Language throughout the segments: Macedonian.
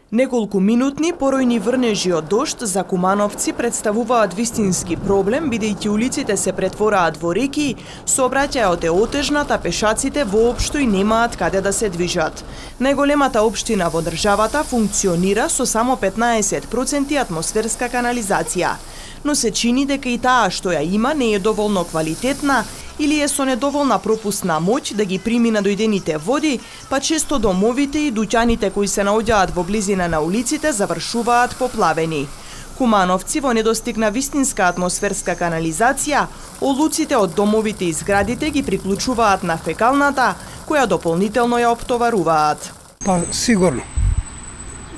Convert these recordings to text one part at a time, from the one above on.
Неколку минутни поројни врнежи од дожд за кумановци представуваат вистински проблем, бидејќи улиците се претвораат во реки, сообраќајот е отежнат, а пешаците воопшто и немаат каде да се движат. Најголемата општина во државата функционира со само 15% атмосферска канализација, но се чини дека и таа што ја има не е доволно квалитетна или е со недоволна пропусна моќ да ги примина дојдените води, па често домовите и дуќаните кои се наоѓаат во близина на улиците завршуваат поплавени. Кумановци во недостиг на вистинска атмосферска канализација, олуците од домовите и зградите ги приклучуваат на фекалната, која дополнително ја оптоваруваат. Па сигурно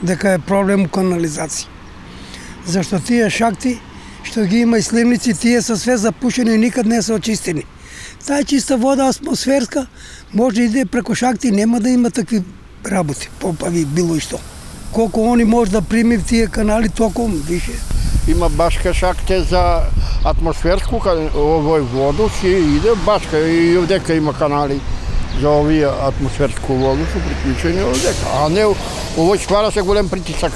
дека е проблем канализација. Зашто тие шахти што ги има и сливници, тие се све запушени и никад не се очистени. Таа чиста вода атмосферска може да иде преку шахти, нема да има такви работи, попави било и што. Колку они може да прими в тие канали, толку више. Има башка шахте за атмосферску овој воду, си иде башка и овдека има канали за овие атмосферску воду, се приклучени овдека. А не, овој ствара се голем притисак.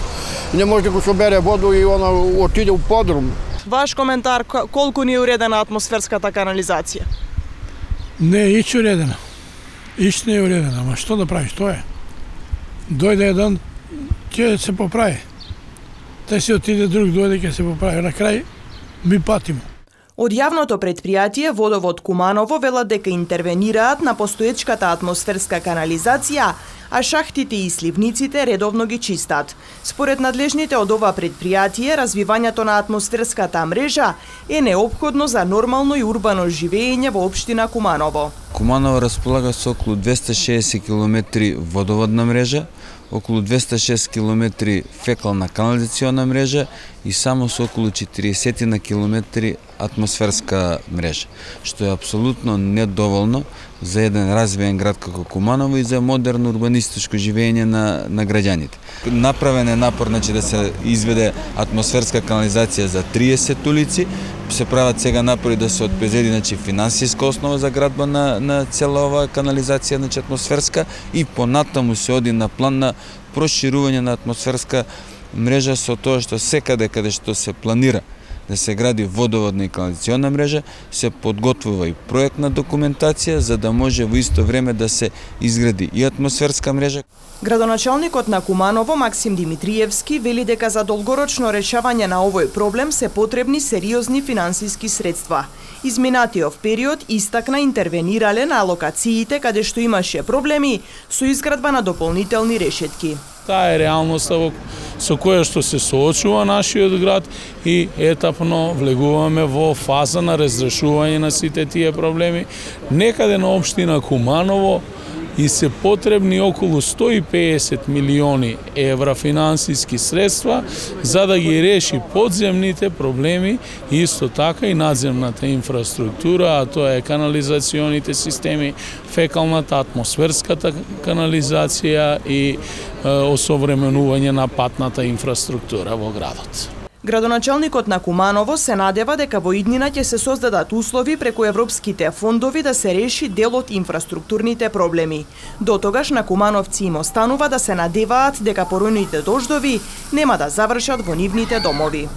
Не може да го собере воду и она отиде у подрум. Ваш коментар, колку ни е уредена атмосферската канализација? Не е ич уредена. Ич не е уредена, ама што да правиш, тоа е. Дојде еден, ќе се поправи. Те се отиде друг, дојде ќе се поправи. На крај ми патимо. Од јавното предпријатие Водовод Куманово велат дека интервенираат на постоечката атмосферска канализација, а шахтите и сливниците редовно ги чистат. Според надлежните од ова предпријатие, развивањето на атмосферската мрежа е неопходно за нормално и урбано живење во општина Куманово. Куманово располага со околу 260 км водоводна мрежа, околу 206 км фекална канализациона мрежа и само со околу 40 на километри атмосферска мрежа, што е апсолутно недоволно за еден развиен град како Куманово и за модерно урбанистичко живење на граѓаните. Направен е напор да се изведе атмосферска канализација за 30 улици, се прават сега напори да се отпрезеди финансиска основа за градба на цела оваа канализација атмосферска и понатаму се оди на план на проширување на атмосферска мрежа со тоа што секаде каде што се планира да се гради водоводна и канализациона мрежа, се подготвува и проектна документација за да може во исто време да се изгради и атмосферска мрежа. Градоначалникот на Куманово Максим Димитриевски вели дека за долгорочно решавање на овој проблем се потребни сериозни финансиски средства. Изминатиот период истакна интервенирале на локациите каде што имаше проблеми со изградба на дополнителни решетки. Таа е реалноста со која што се соочува нашиот град и етапно влегуваме во фаза на разрешување на сите тие проблеми. Некаде на општина Куманово и се потребни околу 150 милиони евра финансиски средства за да ги реши подземните проблеми и исто така и надземната инфраструктура, а тоа е канализационите системи, фекалната, атмосферската канализација и осовременување на патната инфраструктура во градот. Градоначалникот на Куманово се надева дека во иднина ќе се создадат услови преку европските фондови да се реши дел од инфраструктурните проблеми. До тогаш на кумановци им останува да се надеваат дека поројните дождови нема да завршат во нивните домови.